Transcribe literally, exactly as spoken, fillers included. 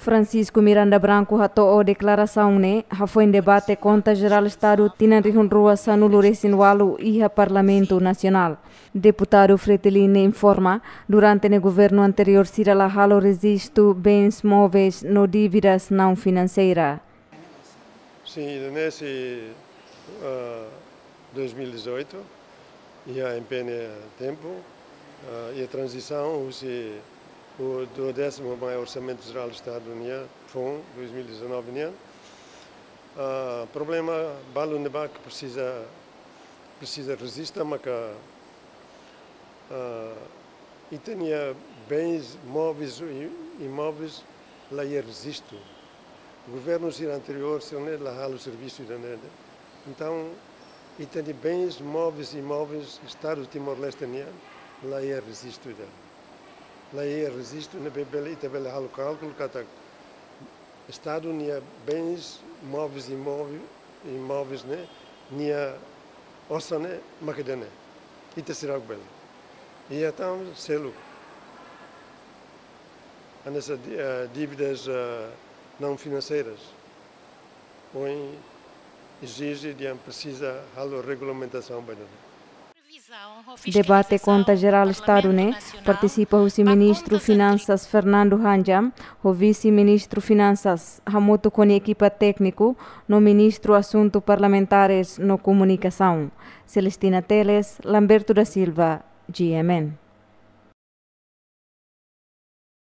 Francisco Miranda Branco hato'o deklarasaun ne'e hafoin debate Konta Jerál Estadu tinan rihun rua sanulu resin ualu iha Parlamentu Nasionál. Deputadu Fretilin informa, durante ne'e governu anteriór sira la halo rejistu bens móveis no dívidas não finanseira. Sin, ida-ne'e sei, ah, dois mil e dezoito, iha M P N tempu, ah, iha tranzisaun husi duodésimu mai Orsamentu Jerál Estadu nian, foun dois mil e dezanove nian. Ah, problema balu ne'ebé ke presiza, presiza rejista, maka, ah, ita-nia bens móveis i imóveis la iha rejistu. Governu sira anteriór sira ne'e la halo servisu ida-ne'e. Entaun, ita-nia bens móveis i imóveis Estadu Timor-Leste nian la iha rejistu ida. La iha rejistu ne'ebé bele, ita bele halo kálkulu katak Estadu nia bens móveis i imóve-, imóveis ne'e, nia osan ne'e mak ida-ne'e. Ita seidauk bele. Iha tan seluk. Hanesan di-, eh, dívidas, eh, não financeiras. Ohin ezije dehan presiza halo regulamentasaun ba ida-ne'e. Debate Konta Jerál Estadu ne'e partisipa husi Ministru Finansas Fernando Hanjam, ho Vise-Ministru Finansas, hamutuk ho nia ekipa tékniku, no Ministru Asuntu Parlamentares no Komunikasaun. Celestina Teles, Lamberto da Silva, G M N.